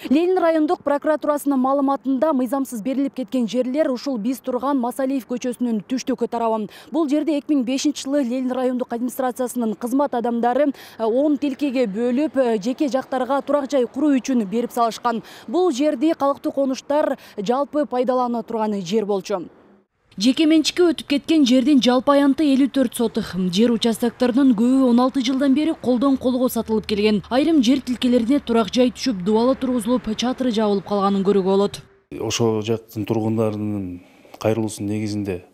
Ленин райондук прокуратурасынын маалыматында мыйзамсыз берилип кеткен жерлер ушул биз турган Масалиев көчөсүнүн түштүк тарабы. Бул жерде 2005-жылы Ленин райондук администрациясынын кызмат адамдары 10 тилкеге бөлүп, жеке жактарга турак жай куруу үчүн берип салышкан. Бул жерди калктуу конуштар жалпы пайдалана турган жер болчу. Жеке менчикке өтүп кеткен жердин жалпы аянты 54 сотых. Жер участокторунун көбү 16 жылдан бери колдон колго сатылып келген. Айрым жер тилкелерине турак жай түшүп, дубалы тургузулуп, чатыры жабылып калганын көрүүгө болот. Ошо жактын тургундарынын кайрылуусунун негизинде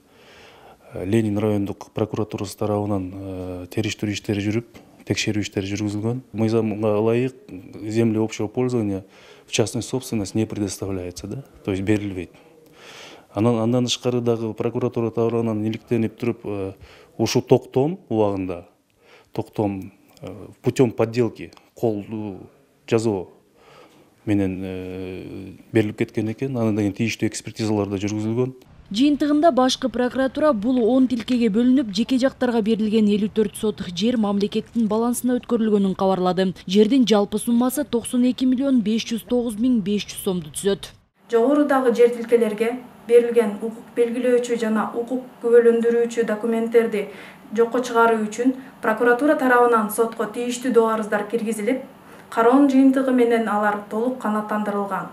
Ленин райондук прокуратурасы тарабынан териштирүү иштери жүрүп, текшерүү иштери жүргүзүлгөн. Мыйзамга ылайык земли общего пользования в частную собственность не предоставляется, да, то есть берилбейт. Андан тышкары дагы прокуратура тарабынан иликтенип туруп, ушул токтом убагында, путем подделки колду жазуу менен берилип кеткен экен. Андан кийин тийиштүү экспертизалар да жүргүзүлгөн. Жыйынтыгында башкы прокуратура бул 10 тилкеге бөлүнүп, жеке жактарга берилген 54 сотых жер мамлекеттин балансына өткөрүлгөнүн кабарлады. Жердин жалпы суммасы 92.509.500 сомду түзөт. Жогорудагы жер тилкелерге берилген укук белгилөөчү жана укук күбөлөндүрүүчү документтерди жокко чыгаруу үчүн прокуратура тарабынан сотко тийиштүү доо арыздар киргизилип, кароонун жыйынтыгы менен алар толук канааттандырылган.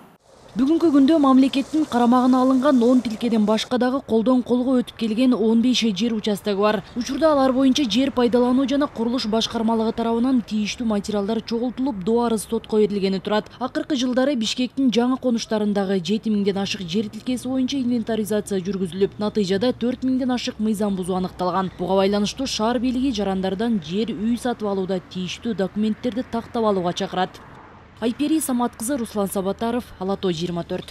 Бүгүнкү күндө мамлекеттин карамагына алынган 10 тилкеден башка дагы колдон колго өтүп келген 15 жер участогу бар. Учурда алар боюнча жер пайдалануу жана курулуш башкармалыгы тарабынан тийиштүү материалдар чогултулуп, доо арыз сотко берилгени турат. Акыркы жылдары Бишкектин жаңы конуштарындагы 7000ден ашык жер тилкеси боюнча инвентаризация жүргүзүлүп, натыйжада 4000ден ашык мыйзам бузуу аныкталган. Буга байланыштуу шаар бийлиги жарандардан жер үй сатып алууда тийиштүү документтерди тактап алууга чакырат. Айпери Самат кызы, Руслан Сабатаров, Ала Тоо 24.